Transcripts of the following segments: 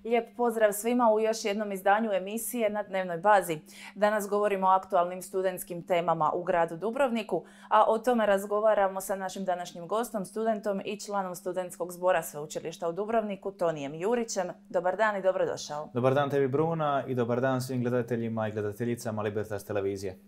Lijep pozdrav svima u još jednom izdanju emisije na dnevnoj bazi. Danas govorimo o aktualnim studentskim temama u gradu Dubrovniku, a o tome razgovaramo sa našim današnjim gostom, studentom i članom studentskog zbora Sveučilišta u Dubrovniku, Tonijem Jurićem. Dobar dan i dobrodošao. Dobar dan tebi, Bruna, i dobar dan svim gledateljima i gledateljicama Libertas televizije.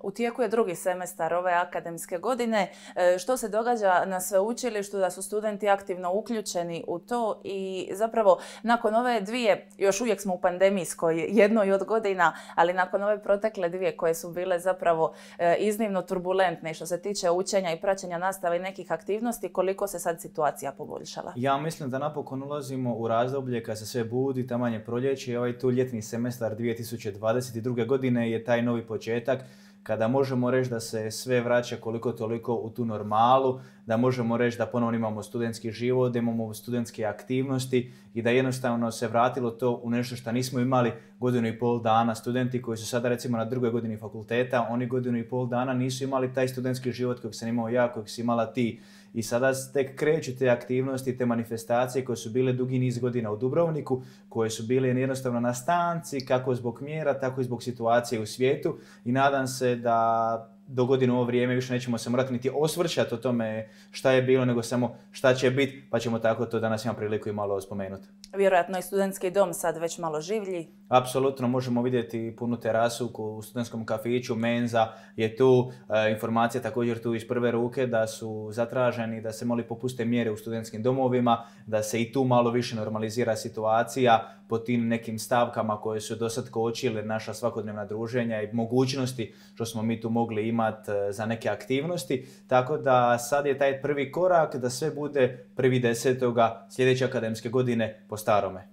U tijeku je drugi semestar ove akademske godine. Što se događa na sveučilištu, da su studenti aktivno uključeni u to i zapravo nakon ove dvije, još uvijek smo u pandemijskoj jednoj od godina, ali nakon ove protekle dvije koje su bile zapravo iznimno turbulentne što se tiče učenja i praćenja nastave i nekih aktivnosti, koliko se sad situacija poboljšala? Ja mislim da napokon ulazimo u razdoblje kad se sve budi, taman je proljeće i ovaj tu ljetni semestar 2022. godine je taj novi početak kada možemo reći da se sve vraća koliko toliko u tu normalu, da možemo reći da ponovno imamo studentski život, da imamo studentske aktivnosti i da jednostavno se vratilo to u nešto što nismo imali godinu i pol dana. Studenti koji su sada recimo na drugoj godini fakulteta, oni godinu i pol dana nisu imali taj studentski život kojeg sam imao ja, kojeg si imala ti. I sada tek kreću te aktivnosti, te manifestacije koje su bile dugi niz godina u Dubrovniku, koje su bile jednostavno na stanci, kako zbog mjera, tako i zbog situacije u svijetu. I nadam se da do godine ovo vrijeme više nećemo se morati niti osvrćati o tome šta je bilo, nego samo šta će biti, pa ćemo tako to danas imam priliku i malo spomenuti. Vjerojatno i studentski dom sad već malo življi. Apsolutno, možemo vidjeti punu terasu u studentskom kafiću, menza je tu, informacija također tu iz prve ruke da su zatraženi da se popuste mjere u studentskim domovima, da se i tu malo više normalizira situacija po tim nekim stavkama koje su do sad kočile naša svakodnevna druženja i mogućnosti što smo mi tu mogli imati za neke aktivnosti. Tako da sad je taj prvi korak da sve bude 1.10. sljedeće akademske godine po starome.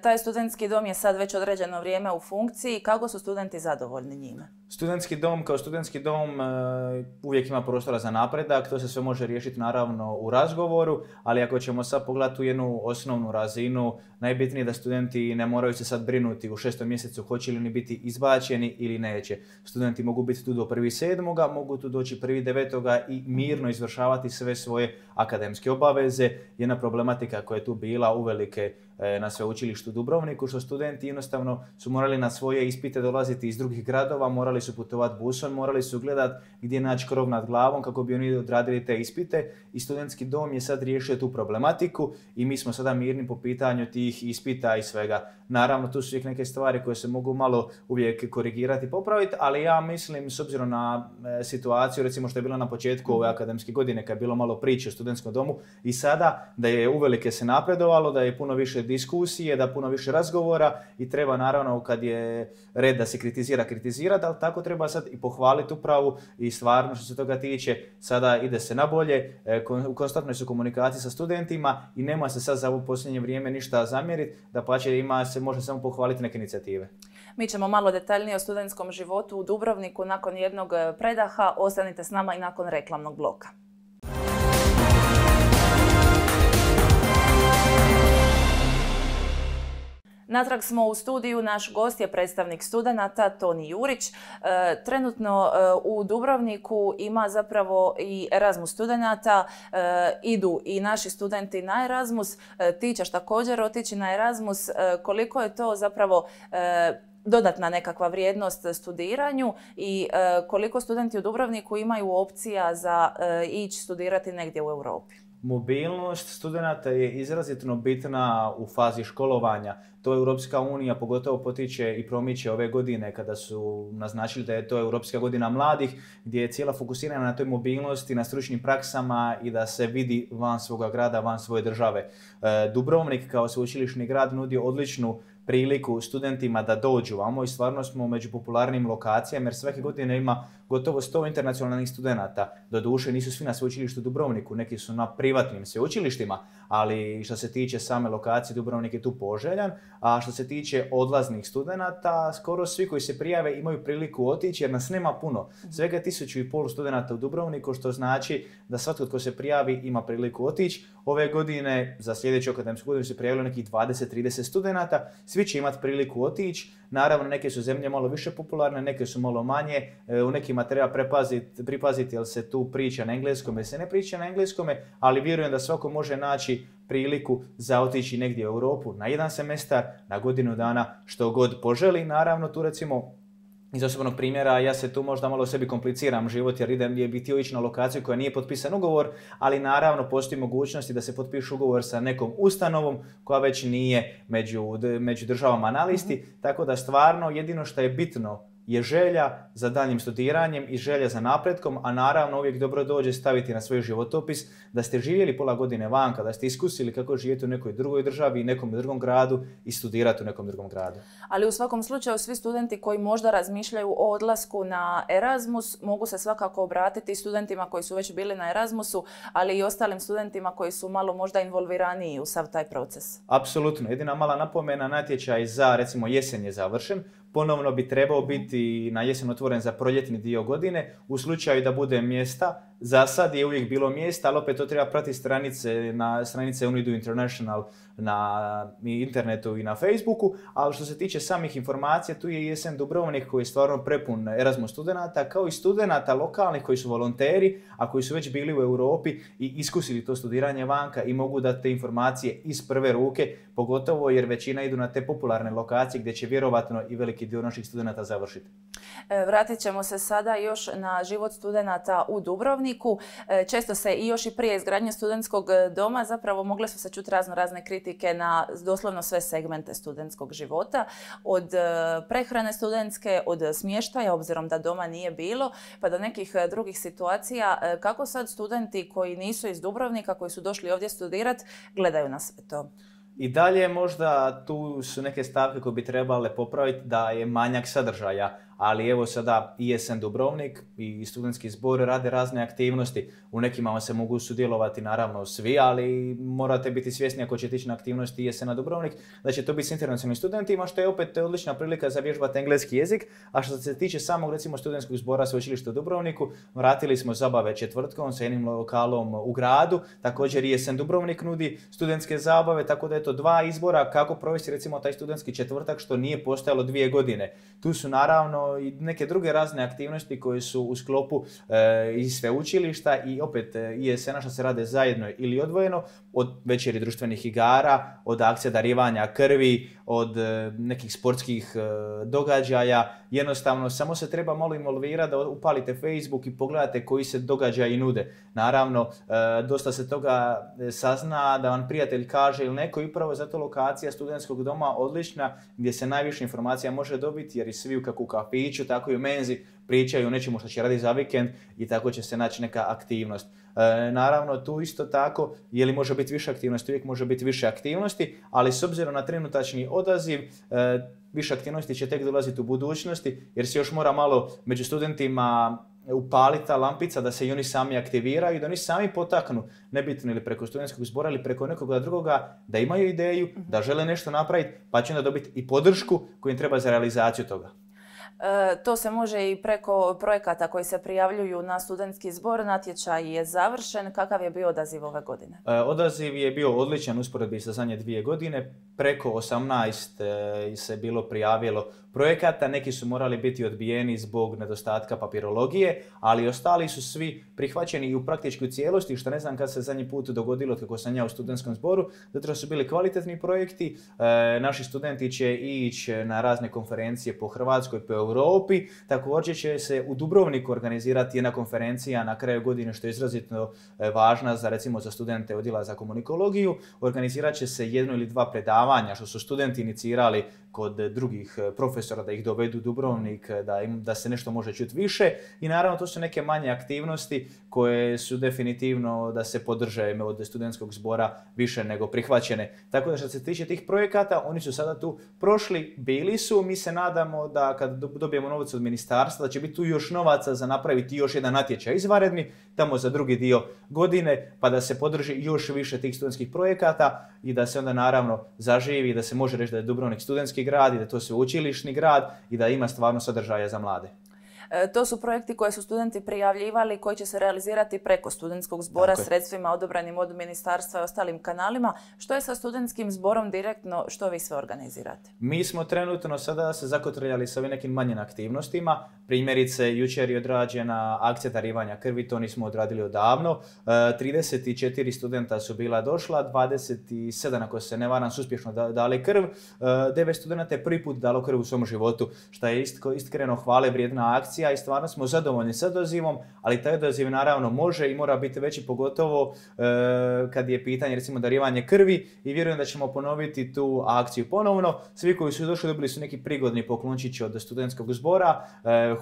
Taj studentski dom je sad već određeno vrijeme u funkciji. Kako su studenti zadovoljni njime? Studentski dom kao studentski dom uvijek ima prostora za napredak, to se sve može riješiti naravno u razgovoru, ali ako ćemo sad pogledati tu jednu osnovnu razinu, najbitnije je da studenti ne moraju se sad brinuti u 6. mjesecu hoće li oni biti izbačeni ili neće. Studenti mogu biti tu do 1.7., mogu tu doći 1.9. i mirno izvršavati sve svoje akademske obaveze. Jedna problematika koja je tu bila uvelike na sveučilištu u Dubrovniku, što studenti jednostavno su morali na svoje ispite dolaziti iz drugih gradova, morali su putovati busom, morali su gledati gdje naći krov nad glavom kako bi oni odradili te ispite i studentski dom je sad riješio tu problematiku i mi smo sada mirni po pitanju tih ispita i svega. Naravno, tu su uvijek neke stvari koje se mogu malo uvijek korigirati i popraviti, ali ja mislim, s obzirom na situaciju, recimo što je bilo na početku ove akademske godine, kad je bilo malo priče o studentskom domu i sada da je uvelike se napredovalo, da je puno više diskusije, da puno više razgovora i treba naravno kad je red da se kritizirati, ali tako treba sad i pohvaliti upravu i stvarno što se toga tiče, sada ide se na bolje, u konstantnoj su komunikaciji sa studentima i nema se sad za ovo posljednje vrijeme ništa zamjeriti, dapače se može samo pohvaliti neke inicijative. Mi ćemo malo detaljnije o studentskom životu u Dubrovniku nakon jednog predaha. Ostanite s nama i nakon reklamnog bloka. Natrag smo u studiju, naš gost je predstavnik studenata Toni Jurić. Trenutno u Dubrovniku ima zapravo i Erasmus studenata, idu i naši studenti na Erasmus. Ti ćeš također otići na Erasmus. Koliko je to zapravo dodatna nekakva vrijednost studiranju i koliko studenti u Dubrovniku imaju opcija za ići studirati negdje u Europi? Mobilnost studenata je izrazito bitna u fazi školovanja. To Europska unija pogotovo potiče i promiče ove godine kada su naznačili da je to Europska godina mladih, gdje je cijela fokusirana na toj mobilnosti, na stručnim praksama i da se vidi van svoga grada, van svoje države. Dubrovnik kao sveučilišni grad nudi odličnu priliku studentima da dođu vamo i stvarno smo među popularnim lokacijama jer svake godine ima gotovo 100 internacionalnih studenata. Doduše nisu svi na sveučilištu u Dubrovniku, neki su na privatnim sveučilištima, ali što se tiče same lokacije Dubrovnik je tu poželjan, a što se tiče odlaznih studenata, skoro svi koji se prijave imaju priliku otići jer nas nema puno. Svega 1.500 studenata u Dubrovniku, što znači da svatko tko se prijavi ima priliku otići. Ove godine, za sljedeću akademsku godinu se prijavilo nekih 20-30 studenata. svi će imati priliku otići. Naravno, neke su zemlje malo više popularne, neke su malo manje. U nekima treba pripaziti jel se tu priča na engleskom ili se ne priča na engleskome, ali vjerujem da svako može naći priliku za otići negdje u Europu na jedan semestar, na godinu dana, što god poželi. Naravno, tu recimo iz osobnog primjera, ja se tu možda malo sebi kompliciram život jer bih htio ići na lokaciju koja nije potpisan ugovor, ali naravno postoji mogućnosti da se potpiše ugovor sa nekom ustanovom koja već nije među državama na listi, tako da stvarno jedino što je bitno je želja za daljnjim studiranjem i želja za napretkom, a naravno uvijek dobro dođe staviti na svoj životopis da ste živjeli pola godine vanka, da ste iskusili kako živjeti u nekoj drugoj državi i nekom drugom gradu i studirati u nekom drugom gradu. Ali u svakom slučaju svi studenti koji možda razmišljaju o odlasku na Erasmus mogu se svakako obratiti studentima koji su već bili na Erasmusu, ali i ostalim studentima koji su malo možda involviraniji u sav taj proces. Apsolutno. Jedina mala napomena, natječaj za recimo jesen je završen. Ponovno bi trebao biti na jesen otvoren za proljetni dio godine. U slučaju da bude mjesta, za sad je uvijek bilo mjesta, ali opet to treba pratiti stranice UNIDO International na internetu i na Facebooku. Ali što se tiče samih informacija, tu je ISN Dubrovnik koji je stvarno prepun Erasmus studenata, kao i studenata lokalnih koji su volonteri, a koji su već bili u Europi i iskusili to studiranje vanka i mogu dati te informacije iz prve ruke, pogotovo jer većina idu na te popularne lokacije gdje će vjerovatno i veliki dio naših studenata završiti. Vratit ćemo se sada još na život studenata u Dubrovniku. Često se i još i prije izgradnje studentskog doma zapravo mogle su se čuti razne kritike na doslovno sve segmente studentskog života. Od prehrane studentske, od smještaja, obzirom da doma nije bilo, pa do nekih drugih situacija. Kako sad studenti koji nisu iz Dubrovnika, koji su došli ovdje studirati, gledaju na sve to? I dalje možda tu su neke stavke koje bi trebale popraviti da je manjak sadržaja, ali evo sada ISN Dubrovnik i studentski zbor rade razne aktivnosti. U nekima se mogu sudjelovati naravno svi, ali morate biti svjesni ako ćete ići na aktivnosti ISN Dubrovnik da će to biti s internacionalnim studentima, što je opet odlična prilika za vježbati engleski jezik. A što se tiče samog recimo studentskog zbora Sveučilišta u Dubrovniku, vratili smo zabave četvrtkom sa jednim lokalom u gradu. Također ISN Dubrovnik nudi studentske zabave, tako da je to dva izbora kako provesti recimo taj studentski četvrtak što nije postojalo 2 godine. Tu su naravno i neke druge razne aktivnosti koje su u sklopu i sveučilišta i opet ISN-a što se rade zajedno ili odvojeno, od večeri društvenih igara, od akcija darivanja krvi, od nekih sportskih događaja. Jednostavno, samo se treba malo involvirati da upalite Facebook i pogledate koji se događaji nude. Naravno, dosta se toga sazna da vam prijatelj kaže ili neko i upravo zato lokacija studentskog doma odlična gdje se najviše informacija može dobiti jer i svi kako u kafiću, tako i u menzi pričaju o nečemu što će raditi za vikend i tako će se naći neka aktivnost. Naravno, tu isto tako, je li može biti više aktivnosti, uvijek može biti više aktivnosti, ali s obzirom na trenutačni odaziv, više aktivnosti će tek dolaziti u budućnosti, jer se još mora malo među studentima upaliti ta lampica da se i oni sami aktiviraju i da oni sami potaknu, nebitno ili preko studentskog zbora ili preko nekoga drugoga, da imaju ideju, da žele nešto napraviti, pa će onda dobiti i podršku koju im treba za realizaciju toga. To se može i preko projekata koji se prijavljuju na studentski zbor. Natječaj je završen. Kakav je bio odaziv ove godine? Odaziv je bio odličan usporedbi sa zadnje 2 godine. Preko 18 se bilo prijavilo projekata. Neki su morali biti odbijeni zbog nedostatka papirologije, ali ostali su svi prihvaćeni i u praktički u cijelosti, što ne znam kad se zadnji put dogodilo kako sam ja u studentskom zboru. Zato su bili kvalitetni projekti. Naši studenti će ići na razne konferencije po Hrvatskoj, po Europi. Također će se u Dubrovniku organizirati jedna konferencija na kraju godine što je izrazito važna za recimo za studente odjela za komunikologiju. Organizirat će se 1 ili 2 predavanja što su studenti inicirali kod drugih profesora da ih dovedu u Dubrovnik, da se nešto može čuti više. I naravno to su neke manje aktivnosti koje su definitivno da se podrže od studentskog zbora više nego prihvaćene. Tako da što se tiče tih projekata, oni su sada tu prošli, bili su. Mi se nadamo da kad dobijemo novac od ministarstva, da će biti tu još novaca za napraviti još jedan natječaj izvanredni, tamo za drugi dio godine, pa da se podrži još više tih studentskih projekata i da se onda naravno zaživi, da se može reći da je Dubrovnik studentski grad i da je to sveučilišni grad i da ima stvarno sadržaja za mlade. To su projekti koje su studenti prijavljivali, koji će se realizirati preko studentskog zbora, sredstvima odobranim od ministarstva i ostalim kanalima. Što je sa studentskim zborom direktno, što vi sve organizirate? Mi smo trenutno sada se zakotrljali sa ovim nekim manjim aktivnostima. Primjerice, jučer je odrađena akcija darivanja krvi, to nismo odradili odavno. 34 studenta su bila došla, 27, ako se ne varam, su uspješno dali krv. 9 studenta je prvi put dalo krv u svom životu, što je iskreno hvale vrijedna akcija i stvarno smo zadovoljni sa odazivom, ali taj odaziv naravno može i mora biti veći, pogotovo kad je pitanje recimo darivanje krvi, i vjerujem da ćemo ponoviti tu akciju ponovno. Svi koji su došli dobili su neki prigodni poklončić od studentskog zbora,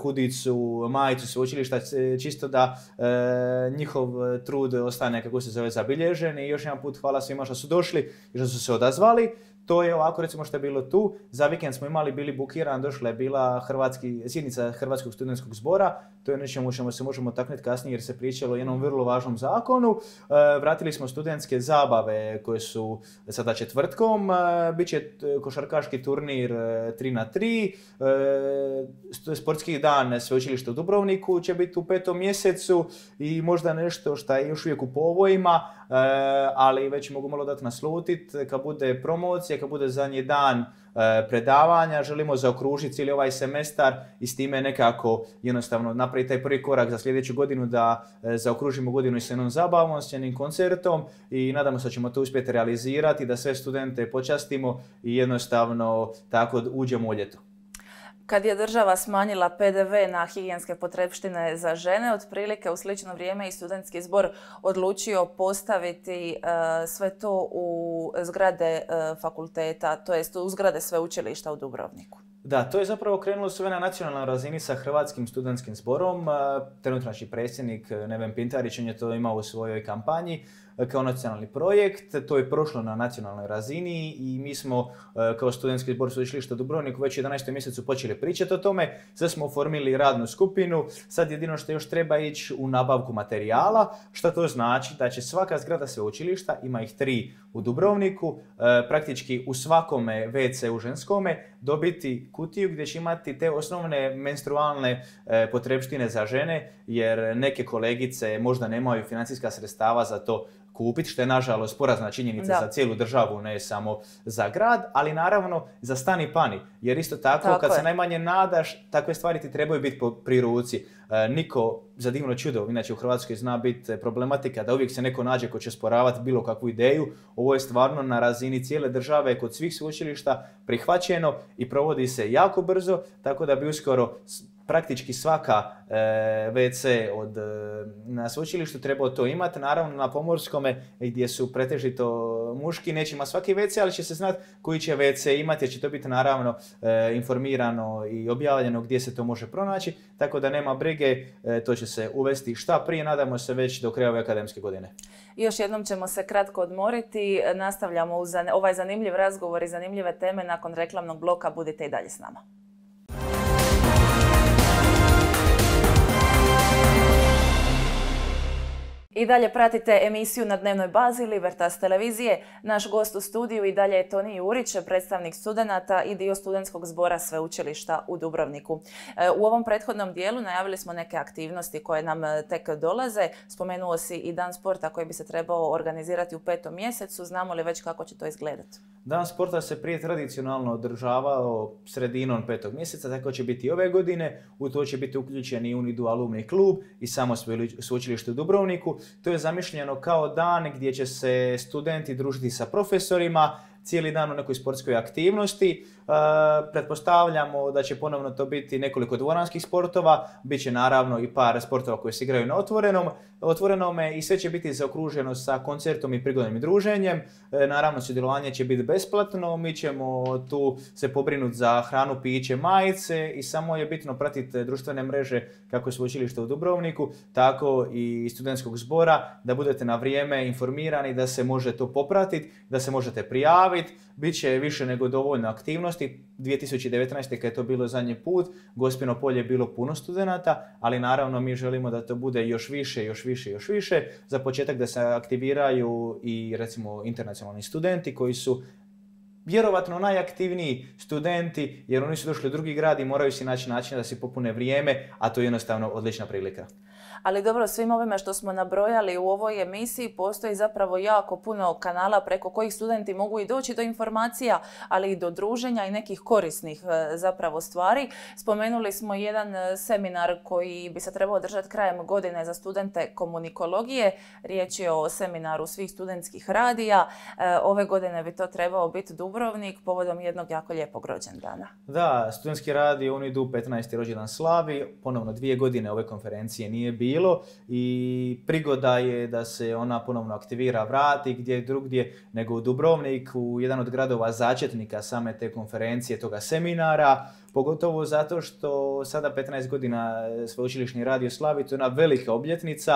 hudicu, majicu sveučilišta, čisto da njihov trud ostane, kako se zove, zabilježen. I još jedan put hvala svima što su došli i što su se odazvali. To je ovako, recimo, što je bilo tu. Za vikend smo bili bukiran, došla je bila sjednica Hrvatskog studentskog zbora. To je nečemu čemu se možemo taknuti kasnije jer se pričalo o jednom vrlo važnom zakonu. Vratili smo studentske zabave koje su sada četvrtkom. Biće košarkaški turnir 3x3. Sportski dan sveučilišta u Dubrovniku će biti u 5. mjesecu i možda nešto što je još uvijek u povojima, ali već mogu malo dati naslutiti. Kad bude promocija, kad bude zadnji dan predavanja, želimo zaokružiti cijeli ovaj semestar i s time nekako jednostavno napraviti taj prvi korak za sljedeću godinu, da zaokružimo godinu i s jednom zabavom, s jednim koncertom, i nadamo se da ćemo to uspjeti realizirati, da sve studente počastimo i jednostavno tako uđemo u ljeto. Kad je država smanjila PDV na higijenske potrepštine za žene, otprilike u slično vrijeme i studentski zbor odlučio postaviti sve to u zgrade fakulteta, to jest u zgrade sveučilišta u Dubrovniku. Da, to je zapravo krenulo sve na nacionalnoj razini sa Hrvatskim studentskim zborom. Trenutno naš predsjednik Neven Pintarić, on je to imao u svojoj kampanji kao nacionalni projekt. To je prošlo na nacionalnoj razini i mi smo kao studentski zbor sveučilišta u Dubrovniku već u 11. mjesecu počeli pričati o tome. Sad smo oformili radnu skupinu. Sad jedino što još treba ići u nabavku materijala. Što to znači? Da će svaka zgrada sveučilišta, ima ih 3 u Dubrovniku, praktički u svakome WC u ženskome dobiti kutiju gdje će imati te osnovne menstrualne potrepštine za žene, jer neke kolegice možda nemaju financijska sredstava za to kupiti, što je nažalost porazna činjenica za cijelu državu, ne samo za grad, ali naravno za stan i pani. Jer isto tako kad se najmanje nadaš, takve stvari ti trebaju biti pri ruci. Niko, za divno čudo, inače u Hrvatskoj zna biti problematika da uvijek se neko nađe ko će sporavati bilo kakvu ideju. Ovo je stvarno na razini cijele države, kod svih sveučilišta prihvaćeno i provodi se jako brzo, tako da bi uskoro praktički svaka WC na sveučilištu trebao to imati. Naravno na pomorskome gdje su pretežito muški neće imati svaki WC, ali će se znati koji će WC imati, jer će to biti naravno informirano i objavljeno gdje se to može pronaći, tako da nema brige, to će se uvesti šta prije, nadamo se već do kraja ove akademske godine. Još jednom ćemo se kratko odmoriti, nastavljamo uz ovaj zanimljiv razgovor i zanimljive teme nakon reklamnog bloka, budite i dalje s nama. I dalje pratite emisiju na dnevnoj bazi Libertas televizije. Naš gost u studiju i dalje je Toni Jurić, predstavnik studenata i dio studentskog zbora sveučilišta u Dubrovniku. U ovom prethodnom dijelu najavili smo neke aktivnosti koje nam tek dolaze. Spomenuo si i Dan sporta koji bi se trebao organizirati u 5. mjesecu. Znamo li već kako će to izgledati? Dan sporta se prije tradicionalno održavao sredinom 5. mjeseca, tako će biti ove godine. U to će biti uključen i UNIDU alumni klub i samo sveučilište u Dubrovniku. To je zamišljeno kao dan gdje će se studenti družiti sa profesorima, cijeli dan u nekoj sportskoj aktivnosti. Pretpostavljamo da će ponovno to biti nekoliko dvoranskih sportova, bit će naravno i par sportova koji se igraju na otvorenome i sve će biti zaokruženo sa koncertom i prigodnim druženjem. Naravno, sudjelovanje će biti besplatno, mi ćemo tu se pobrinuti za hranu, piće, majice i samo je bitno pratiti društvene mreže kako sveučilišta u Dubrovniku, tako i studentskog zbora, da budete na vrijeme informirani, da se može to popratiti, da se možete prijaviti. Biće više nego dovoljno aktivnosti. 2019. kad je to bilo zadnji put, Gospino polje je bilo puno studenata, ali naravno mi želimo da to bude još više. Za početak da se aktiviraju i recimo internacionalni studenti koji su vjerovatno najaktivniji studenti, jer oni su došli u drugi grad i moraju si naći način da si popune vrijeme, a to je jednostavno odlična prilika. Ali dobro, svim ovime što smo nabrojali u ovoj emisiji postoji zapravo jako puno kanala preko kojih studenti mogu i doći do informacija, ali i do druženja i nekih korisnih zapravo stvari. Spomenuli smo jedan seminar koji bi se trebao održati krajem godine za studente komunikologije. Riječ je o seminaru svih studentskih radija. Ove godine bi to trebao biti Dubrovnik povodom jednog jako lijepog rođendana. Da, studentski radiji, oni idu 15. rođendan slavi. Ponovno 2 godine ove konferencije nije bilo i prigoda je da se ona ponovno aktivira, vrati gdje drugdje nego u Dubrovnik, u jedan od gradova začetnika same te konferencije, toga seminara, pogotovo zato što sada 15 godina sveučilišni radio slavi, to je jedna velika obljetnica.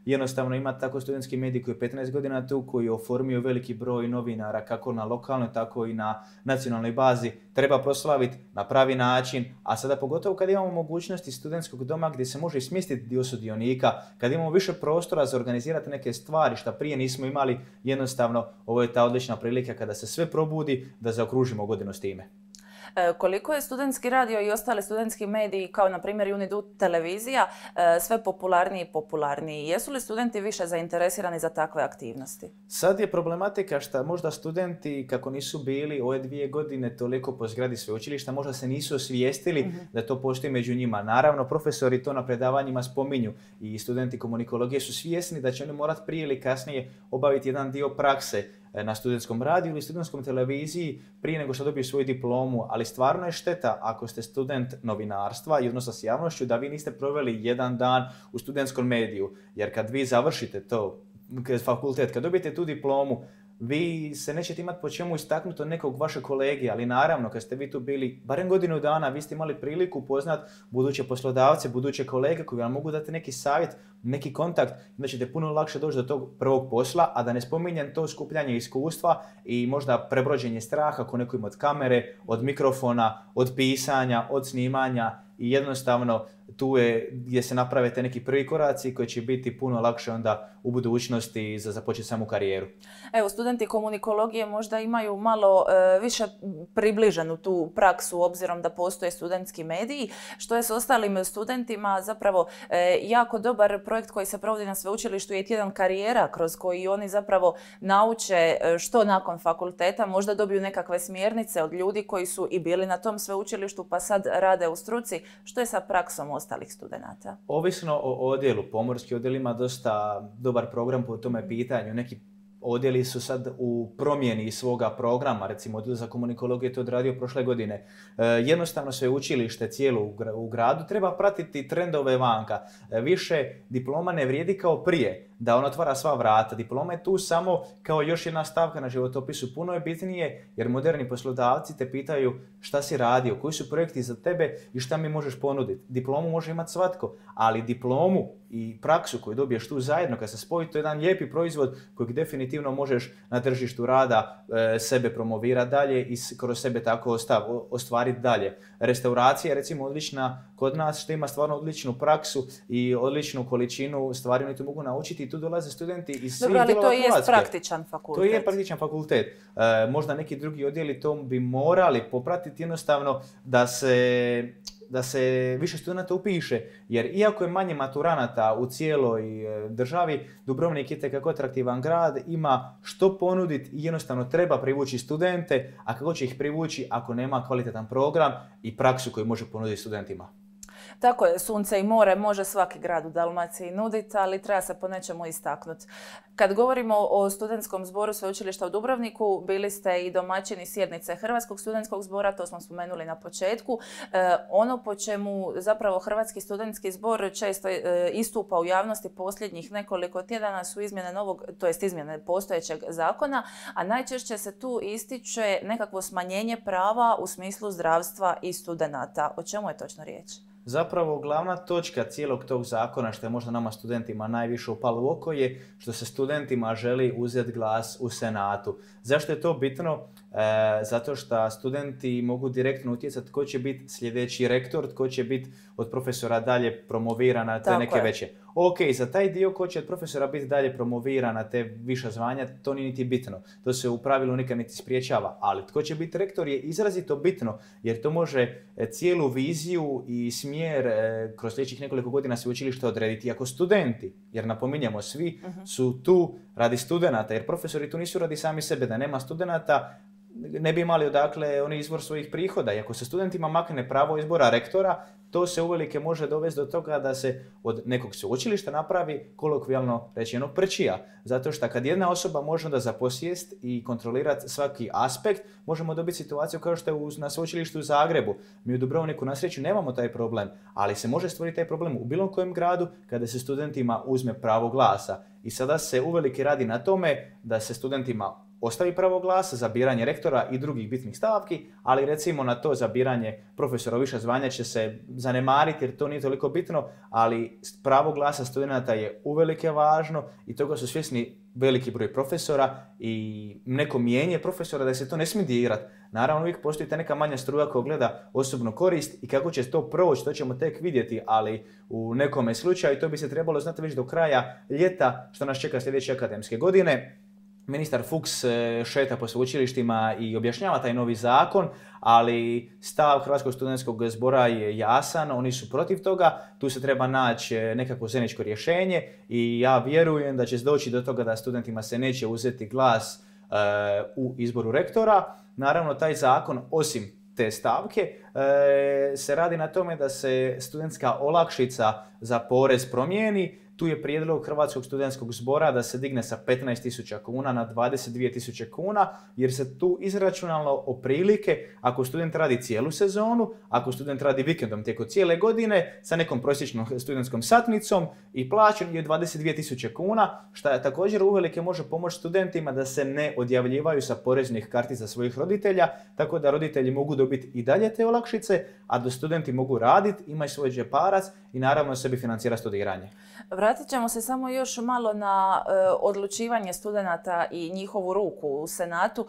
Jednostavno ima tako studentski medij koji je 15 godina tu, koji je oformio veliki broj novinara kako na lokalnoj, tako i na nacionalnoj bazi. Treba proslaviti na pravi način, a sada pogotovo kad imamo mogućnosti studentskog doma gdje se može i smjestiti dio sudionika, kad imamo više prostora za organizirati neke stvari što prije nismo imali, jednostavno ovo je ta odlična prilika kada se sve probudi da zaokružimo godinu s time. Koliko je studentski radio i ostali studentski mediji, kao na primjer Unidu televizija, sve popularniji i popularniji? Jesu li studenti više zainteresirani za takve aktivnosti? Sad je problematika što možda studenti, kako nisu bili ove 2 godine toliko po zgradi sveučilišta, možda se nisu osvijestili da to postoji među njima. Naravno, profesori to na predavanjima spominju i studenti komunikologije su svjesni da će oni morati prije ili kasnije obaviti jedan dio prakse na studentskom radiju ili studentskom televiziji prije nego što dobiju svoju diplomu, ali stvarno je šteta ako ste student novinarstva i odnosno s javnošću da vi niste proveli jedan dan u studentskom mediju, jer kad vi završite to fakultet, kad dobijete tu diplomu, vi se nećete imati po čemu istaknuti od nekog vašeg kolege, ali naravno kad ste vi tu bili barem godinu dana, vi ste imali priliku upoznat buduće poslodavce, buduće kolege koji vam mogu dati neki savjet, neki kontakt, da ćete puno lakše doći do tog prvog posla, a da ne spominjem to skupljanje iskustva i možda prebrođenje straha ako neko ima od kamere, od mikrofona, od pisanja, od snimanja i jednostavno tu je gdje se naprave te neki prvi koraci koji će biti puno lakše onda u budućnosti za započeti samu karijeru. Evo, studenti komunikologije možda imaju malo više približenu tu praksu obzirom da postoje studentski mediji. Što je s ostalim studentima? Zapravo jako dobar projekt koji se provodi na sveučilištu je tjedan karijera kroz koji oni zapravo nauče što nakon fakulteta, možda dobiju nekakve smjernice od ljudi koji su i bili na tom sveučilištu pa sad rade u struci. Što je sa praksom ostalih studenata? Ovisno o odjelu. Pomorski odjel ima dosta dobar program po tome pitanju. Neki odjeli su sad u promjeni svoga programa, recimo odjel za komunikologiju je to odradio prošle godine. Jednostavno sveučilište cijelo u gradu treba pratiti trendove vanka. Više diploma ne vrijedi kao prije, da on otvara sva vrata. Diploma je tu samo kao još jedna stavka na životopisu. Puno je bitnije jer moderni poslodavci te pitaju šta si radio, koji su projekti za tebe i šta mi možeš ponuditi. Diplomu može imati svatko, ali diplomu i praksu koju dobiješ tu zajedno kad se spoji, to je jedan lijepi proizvod kojeg definitivno možeš na tržištu rada sebe promovirati dalje i kroz sebe tako ostvariti dalje. Restauracija je recimo odlična kod nas što ima stvarno odličnu praksu i odličnu količinu stvari oni tu mogu naučiti i tu dolaze studenti iz svih dijelova Hrvatske. Dobro, ali to je praktičan fakultet. To je praktičan fakultet. Možda neki drugi odjeli to bi morali popratiti jednostavno da se više studenta upiše, jer iako je manje maturanata u cijeloj državi, Dubrovnik je itekako atraktivan grad, ima što ponuditi i jednostavno treba privući studente, a kako će ih privući ako nema kvalitetan program i praksu koju može ponuditi studentima. Tako je, sunce i more može svaki grad u Dalmaciji nuditi, ali treba se po nečemu istaknuti. Kad govorimo o studentskom zboru Sveučilišta u Dubrovniku, bili ste i domaćini sjednice Hrvatskog studentskog zbora, to smo spomenuli na početku. Ono po čemu zapravo Hrvatski studentski zbor često istupa u javnosti posljednjih nekoliko tjedana su izmjene postojećeg zakona, a najčešće se tu ističe nekakvo smanjenje prava u smislu zdravstva i studenata. O čemu je točno riječ? Zapravo glavna točka cijelog tog zakona, što je možda nama studentima najviše upalo u oko, je što se studentima želi uzeti glas u Senatu. Zašto je to bitno? Zato što studenti mogu direktno utjecati tko će biti sljedeći rektor, tko će biti od profesora dalje promoviran na te neke veće. Ok, za taj dio ko će od profesora biti dalje promoviran na te viša zvanja, to nije niti bitno. To se u pravilu nikad niti spriječava. Ali tko će biti rektor je izrazito bitno, jer to može cijelu viziju i smjer kroz sljedećih nekoliko godina sveučilišta odrediti ako studenti. Jer napominjemo, svi su tu radi studenata, jer profesori tu nisu radi sami sebe. Da nema studenata, ne bi imali odakle oni izvor svojih prihoda. I ako se studentima makne pravo izbora rektora, to se uvelike može dovesti do toga da se od nekog sveučilišta napravi, kolokvijalno rečeno, prčija. Zato što kad jedna osoba može onda zaposjest i kontrolirati svaki aspekt, možemo dobiti situaciju kao što je na sveučilištu u Zagrebu. Mi u Dubrovniku na sreću nemamo taj problem, ali se može stvoriti taj problem u bilo kojem gradu kada se studentima uzme pravo glasa. I sada se uvelike radi na tome da se studentima ostavi pravo glasa za biranje rektora i drugih bitnih stavki, ali recimo na to za biranje profesora viša zvanja će se zanemariti jer to nije toliko bitno, ali pravo glasa studenata je uvelike važno i toga su svjesni veliki broj profesora i neko mijenje profesora da se to ne smije dirati. Naravno, uvijek postoji ta neka manja struja koja gleda osobnu korist i kako će to proći, to ćemo tek vidjeti, ali u nekome slučaju to bi se trebalo znati već do kraja ljeta što nas čeka sljedeće akademske godine. Ministar Fuchs šeta po sveučilištima i objašnjava taj novi zakon, ali stav Hrvatskog studentskog zbora je jasan, oni su protiv toga, tu se treba naći nekakvo zajedničko rješenje i ja vjerujem da će doći do toga da studentima se neće uzeti glas u izboru rektora. Naravno, taj zakon, osim te stavke, se radi na tome da se studentska olakšica za porez promijeni. Tu je prijedlog Hrvatskog studentskog zbora da se digne sa 15.000 kuna na 22.000 kuna, jer se tu izračunalo otprilike ako student radi cijelu sezonu, ako student radi vikendom tijekom cijele godine sa nekom prosječnom studentskom satnicom i plaćen je 22.000 kuna, što također uvelike može pomoći studentima da se ne odjavljivaju sa poreznih kartica svojih roditelja, tako da roditelji mogu dobiti i dalje te olakšice, a da studenti mogu raditi, imaju svoj džeparac i naravno sebi financira studiranje. Vratit ćemo se samo još malo na odlučivanje studenata i njihovu ruku u Senatu.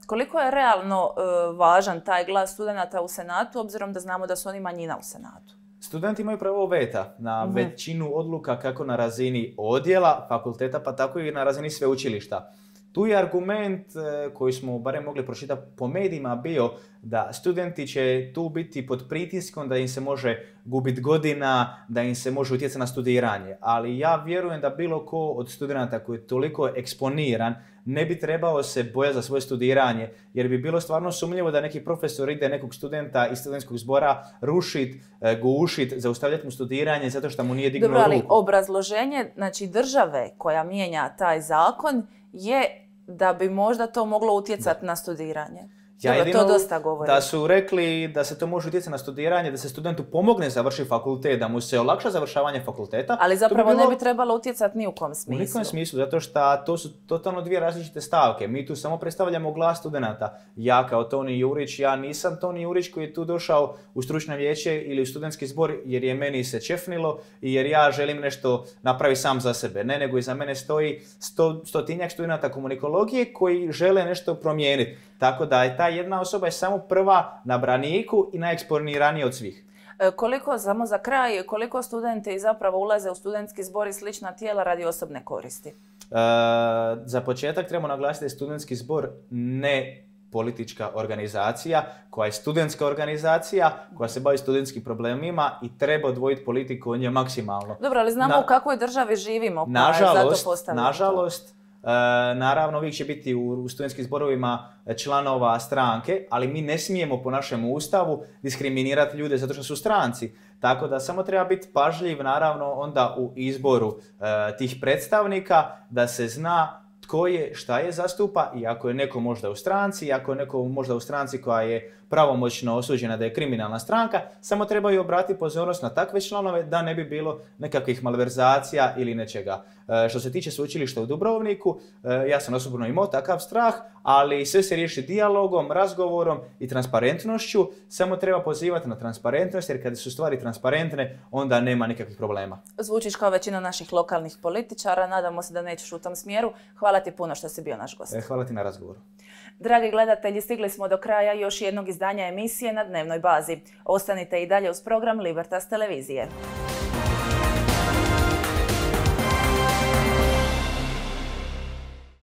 Koliko je realno važan taj glas studenata u Senatu, obzirom da znamo da su oni manjina u Senatu? Studenti imaju pravo veta na većinu odluka kako na razini odjela, fakulteta, pa tako i na razini sveučilišta. Tu je argument koji smo barem mogli pročitati po medijima bio da studenti će tu biti pod pritiskom, da im se može gubiti godina, da im se može utjecati na studiranje. Ali ja vjerujem da bilo ko od studenata koji je toliko eksponiran ne bi trebao se bojati za svoje studiranje, jer bi bilo stvarno sumnjivo da neki profesor ide nekog studenta iz studentskog zbora rušit, gušit, zaustavljati mu studiranje zato što mu nije dignuo ruku. Dobro, ali obrazloženje države koja mijenja taj zakon je da bi možda to moglo utjecati na studiranje. To dosta govori. Da su rekli da se to može utjecati na studiranje, da se studentu pomogne završiti fakultet, da mu se olakša završavanje fakulteta. Ali zapravo ne bi trebalo utjecati ni u kom smislu. U nikom smislu, zato što to su totalno dvije različite stavke. Mi tu samo predstavljamo glas studenata. Ja kao Toni Jurić, ja nisam Toni Jurić koji je tu došao u stručno vijeće ili u studentski zbor jer je meni se čefnilo i jer ja želim nešto napraviti sam za sebe. Ne, nego iza mene stoji stotinjak studenata komunikologije koji žele nešto promijeniti. Tako da je ta jedna osoba je samo prva na braniku i najeksponiranija od svih. Samo za kraj, koliko studenti zapravo ulaze u studentski zbor i slična tijela radi osobne koristi? Za početak trebamo naglasiti da je studentski zbor ne politička organizacija, koja je studentska organizacija, koja se bavi studentskim problemima i treba odvojiti politiku od nje maksimalno. Dobro, ali znamo u kakvoj državi živimo, pa zato postavljamo. Nažalost, naravno, uvijek će biti u studentskim zborovima članova stranke, ali mi ne smijemo po našem ustavu diskriminirati ljude zato što su stranci. Tako da samo treba biti pažljiv, naravno, onda u izboru tih predstavnika, da se zna tko je, šta je zastupa i ako je neko možda u stranci, ako je neko možda u stranci koja je pravomoćno osuđena da je kriminalna stranka, samo trebaju obratiti pozornost na takve članove da ne bi bilo nekakvih malverzacija ili nečega. Što se tiče sveučilišta u Dubrovniku, ja sam osobno imao takav strah, ali sve se riješi dijalogom, razgovorom i transparentnošću. Samo treba pozivati na transparentnost, jer kada su stvari transparentne, onda nema nikakvih problema. Zvučiš kao većina naših lokalnih političara, nadamo se da nećeš u tom smjeru. Hvala ti puno što si bio naš gost. Hvala ti na razgovoru. Dragi gledatelji, stigli smo do kraja još jednog izdanja emisije na dnevnoj bazi. Ostanite i dalje uz program Libertas televizije.